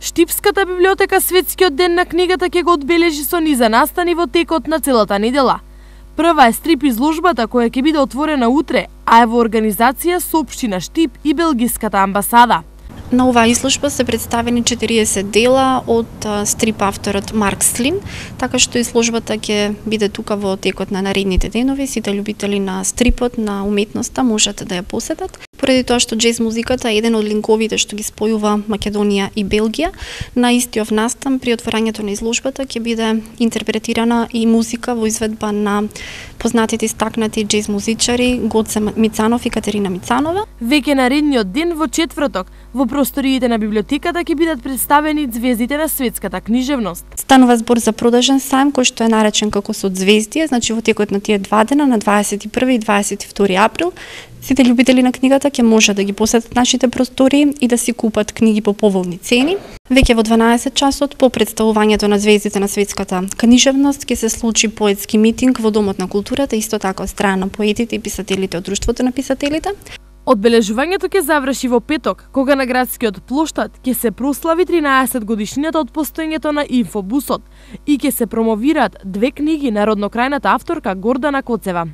Штипската библиотека Светскиот ден на книгата ќе го одбележи со низа настани во текот на целата недела. Прва е стрип изложбата која ќе биде отворена утре, а е во организација со општина Штип и Белгиската амбасада. На оваа изложба се представени 40 дела од стрип авторот Марк Слин, така што изложбата ќе биде тука во текот на наредните денови. Сите љубители на стрипот, на уметноста можат да ја посетат. Поради тоа што џез музиката е еден од линковите што ги спојува Македонија и Белгија, на истиот настан при отворањето на изложбата ќе биде интерпретирана и музика во изведба на познатите истакнати џез музичари Гоце Мицанов и Катерина Мицанова. Веќе наредниот ден во четврток во просториите на библиотеката ќе бидат представени звездите на светската книжевност. Станува збор за продажен сајм кој што е наречен како Созвездие, значи во текот на тие два дена на 21 и 22 април сите љубители на книгата ќе може да ги посетат нашите простории и да си купат книги по поволни цени. Веќе во 12 часот по представувањето на звездите на светската книжевност ќе се случи поетски митинг во Домот на културата, исто така од страна на поетите и писателите од Друштвото на писателите. Одбележувањето ќе заврши во петок, кога на градскиот плоштад ќе се прослави 13 годишнината од постоењето на Инфобусот и ќе се промовираат две книги на роднокрајната авторка Гордана Коцева.